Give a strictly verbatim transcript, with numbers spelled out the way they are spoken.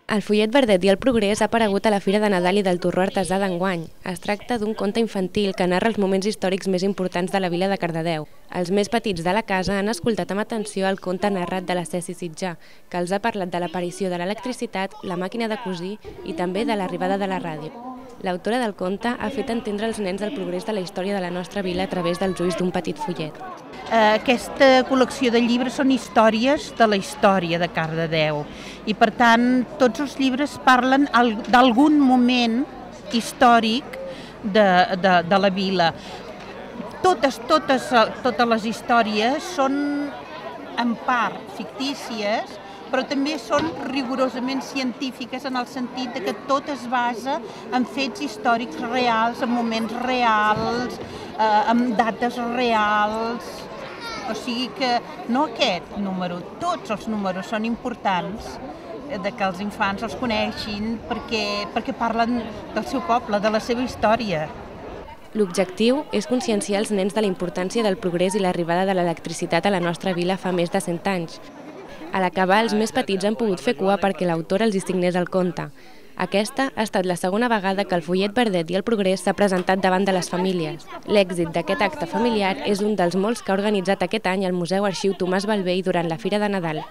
El fullet verdet i el progrés ha aparegut a la Fira de Nadal i del Torró Artesà d'enguany. Es tracta d'un conte infantil que narra els moments històrics més importants de la vila de Cardedeu. Els més petits de la casa han escoltat amb atenció el conte narrat de la Ceci Sitjà, que els ha parlat de l'aparició de l'electricitat, la màquina de cosir i també de l'arribada de la ràdio. L'autora del conte ha fet entendre als nens el progrés de la història de la nostra vila a través dels ulls d'un petit fullet. Aquesta col·lecció de llibres són històries de la història de Cardedeu i, per tant, tots els llibres parlen d'algun moment històric de, de, de la vila. Totes, totes, totes les històries són en part fictícies, però també són rigorosament científiques en el sentit que tot es basa en fets històrics reals, en moments reals, eh, en dates reals. O sigui que no aquest número, tots els números són importants de que els infants els coneixin perquè, perquè parlen del seu poble, de la seva història. L'objectiu és conscienciar els nens de la importància del progrés i l'arribada de l'electricitat a la nostra vila fa més de cent anys. A l'acabar, els més petits han pogut fer cua perquè l'autor els hi signés el conte. Aquesta ha estat la segona vegada que el fullet verdet i el progrés s'ha presentat davant de les famílies. L'èxit d'aquest acte familiar és un dels molts que ha organitzat aquest any el Museu Arxiu Tomàs Bellvei durant la Fira de Nadal.